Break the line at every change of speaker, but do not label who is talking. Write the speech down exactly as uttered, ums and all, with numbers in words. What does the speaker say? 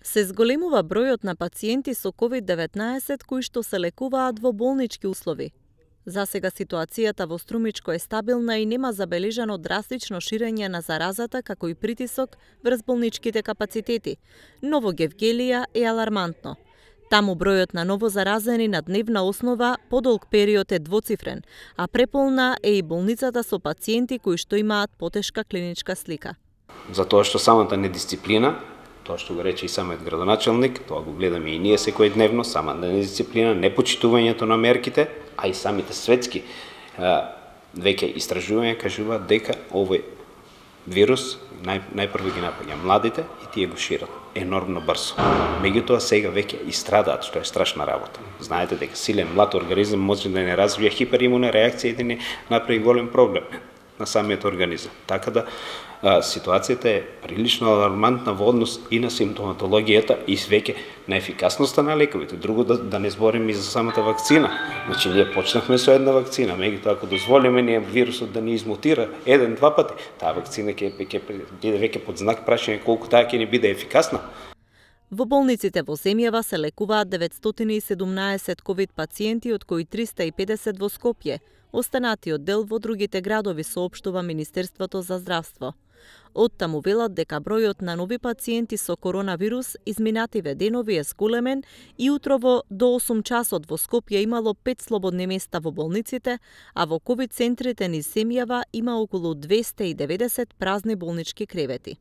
Се зголемува бројот на пациенти со ковид деветнаесет кои што се лекуваат во болнички услови. Засега ситуацијата во Струмичко е стабилна и нема забележано драстично ширење на заразата, како и притисок врз болничките капацитети, но во Гевгелија е алармантно. Таму бројот на новозаразени на дневна основа подолг период е двоцифрен, а преполна е и болницата со пациенти кои што имаат потешка клиничка слика.
Затоа што самата недисциплина, тоа што го рече и самиот градоначелник, тоа го гледаме и ние секојдневно, самата недисциплина, непочитувањето на мерките, а и самите светски веќе истражувања кажуваат дека овој вирус нај, најпрво ги напаѓа младите и тие го шират енормно брзо. Меѓутоа сега веќе и страдаат, што е страшна работа. Знаете дека силен млад организам може да не развие хиперимуна реакција и да не направи голем проблем на самиот организам. Така да а, ситуацијата е прилично алармантна во однос и на симптоматологијата и веќе на ефикасноста на лековите. Друго да, да не зборим и за самата вакцина. Значи ние почнавме со една вакцина, меѓутоа ако дозволиме ние вирусот да ни измутира еден-два пати, таа вакцина ќе ќе биде веќе под знак прашање колку таа ќе ни биде ефикасна.
Во болниците во земјава се лекуваат деветстотини и седумнаесет ковид пациенти, од кои триста и педесет во Скопје. Останатиот дел во другите градови, соопштува Министерството за здравство. Оттаму велат дека бројот на нови пациенти со коронавирус изминативе денови е зголемен и утрово до осум часот во Скопје имало пет слободни места во болниците, а во ковид центрите низ земјава има околу двесте и деветдесет празни болнички кревети.